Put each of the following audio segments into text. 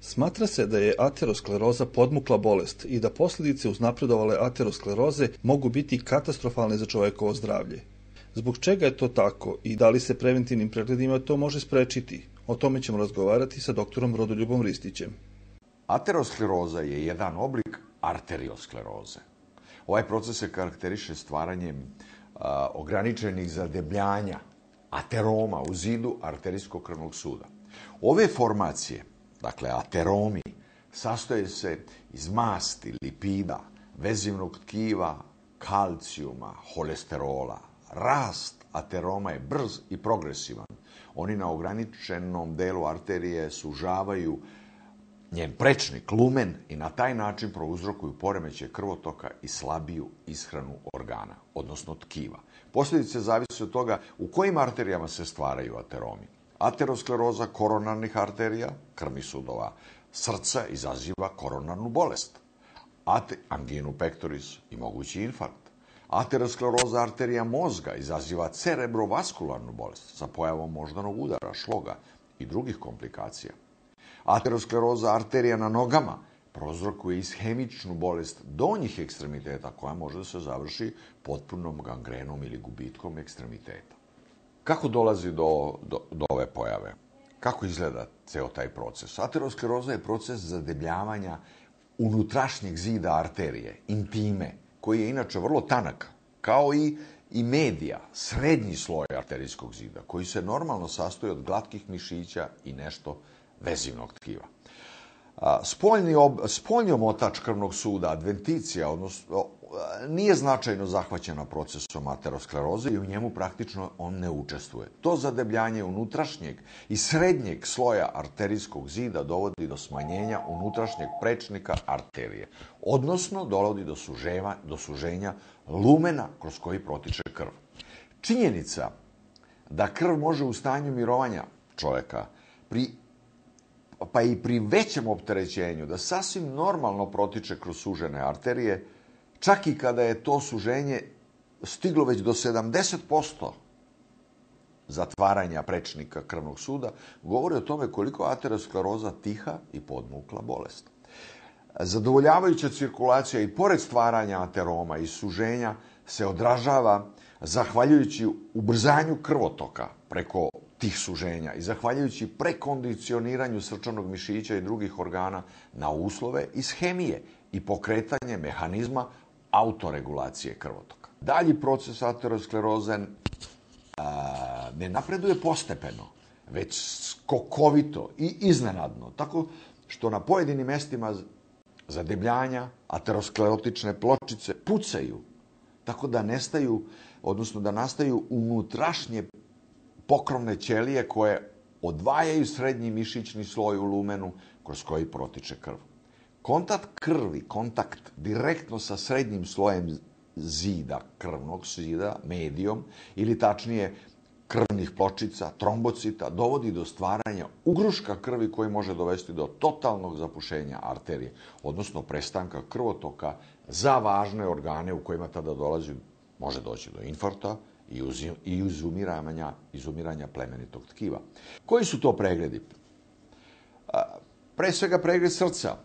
Smatra se da je ateroskleroza podmukla bolest i da posljedice uznapredovale ateroskleroze mogu biti katastrofalne za čovekovo zdravlje. Zbog čega je to tako i da li se preventivnim pregledima to može sprečiti? O tome ćemo razgovarati sa doktorom Rodoljubom Ristićem. Ateroskleroza je jedan oblik arterioskleroze. Ovaj proces se karakteriše stvaranjem ograničenih zadebljanja ateroma u zidu arterijskog krvnog suda. Ove formacije, dakle ateromi, sastoje se iz masti, lipida, vezivnog tkiva, kalcijuma, holesterola. Rast ateroma je brz i progresivan. Oni na ograničenom delu arterije sužavaju njen prečnik, lumen, i na taj način prouzrokuju poremećaj krvotoka i slabiju ishranu organa, odnosno tkiva. Posljedice zavise od toga u kojim arterijama se stvaraju ateromi. Ateroskleroza koronarnih arterija, krvnih sudova srca, izaziva koronarnu bolest, anginu pectoris i mogući infarkt. Ateroskleroza arterija mozga izaziva cerebrovaskularnu bolest sa pojavom moždanog udara, šloga i drugih komplikacija. Ateroskleroza arterija na nogama prouzrokuje ishemičnu bolest donjih ekstremiteta koja može da se završi potpunom gangrenom ili gubitkom ekstremiteta. Kako dolazi do ove pojave? Kako izgleda ceo taj proces? Ateroskleroza je proces zadebljavanja unutrašnjeg zida arterije, intime, koji je inače vrlo tanak, kao i medija, srednji sloj arterijskog zida, koji se normalno sastoji od glatkih mišića i nešto vezivnog tkiva. Spoljni omotač krvnog suda, adventicija, odnosno, nije značajno zahvaćena procesom ateroskleroze i u njemu praktično on ne učestvuje. To zadebljanje unutrašnjeg i srednjeg sloja arterijskog zida dovodi do smanjenja unutrašnjeg prečnika arterije, odnosno dovodi do suženja lumena kroz koji protiče krv. Činjenica da krv može u stanju mirovanja čoveka pa i pri većem opterećenju da sasvim normalno protiče kroz sužene arterije, čak i kada je to suženje stiglo već do 70% zatvaranja prečnika krvnog suda, govori o tome koliko je ateroskleroza tiha i podmukla bolest. Zadovoljavajuća cirkulacija i pored stvaranja ateroma i suženja se odražava zahvaljujući ubrzanju krvotoka preko tih suženja i zahvaljujući prekondicioniranju srčanog mišića i drugih organa na uslove ishemije i pokretanje mehanizma autoregulacije krvotoka. Dalji proces ateroskleroze ne napreduje postepeno, već skokovito i iznenadno, tako što na pojedinim mestima zadebljanja aterosklerotične pločice pucaju, tako da nastaju unutrašnje pokrovne ćelije koje odvajaju srednji mišićni sloj u lumenu kroz koji protiče krv. Kontakt direktno sa srednjim slojem zida, krvnog zida, medijom, ili tačnije krvnih pločica, trombocita, dovodi do stvaranja ugruška krvi koji može dovesti do totalnog zapušenja arterije, odnosno prestanka krvotoka za važne organe u kojima tada može doći do infarkta i izumiranja plemenitog tkiva. Koji su to pregledi? Pre svega pregled srca,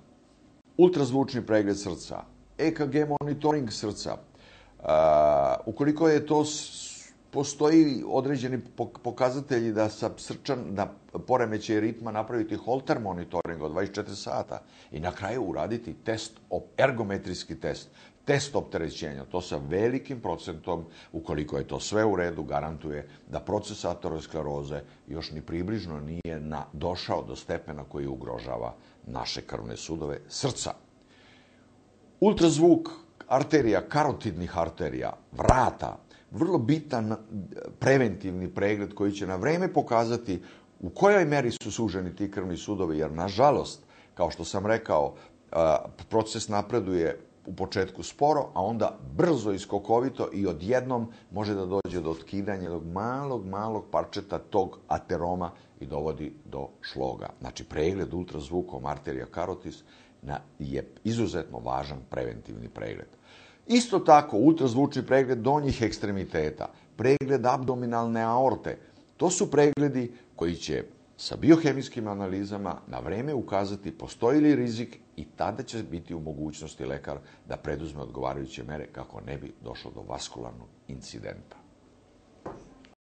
ultrazvučni pregled srca, EKG monitoring srca. Ukoliko postoji određeni pokazatelji da na poremećaj ritma napraviti holter monitoring od 24 sata i na kraju uraditi ergometrijski test opterećenja. To sa velikim procentom, ukoliko je to sve u redu, garantuje da proces ateroskleroze još ni približno nije došao do stepena koji ugrožava naše krvne sudove srca. Ultrazvuk arterija, karotidnih arterija, vrata, vrlo bitan preventivni pregled koji će na vreme pokazati u kojoj meri su suženi ti krvni sudovi, jer nažalost, kao što sam rekao, proces napreduje u početku sporo, a onda brzo i skokovito i odjednom može da dođe do otkidanja jednog malog parčeta tog ateroma i dovodi do šloga. Znači, pregled ultrazvukom arterija karotis je izuzetno važan preventivni pregled. Isto tako, ultrazvučni pregled donjih ekstremiteta, pregled abdominalne aorte, to su pregledi koji će sa biohemijskim analizama na vreme ukazati postoji li rizik i tada će biti u mogućnosti lekar da preduzme odgovarajuće mere kako ne bi došlo do vaskularnog incidenta.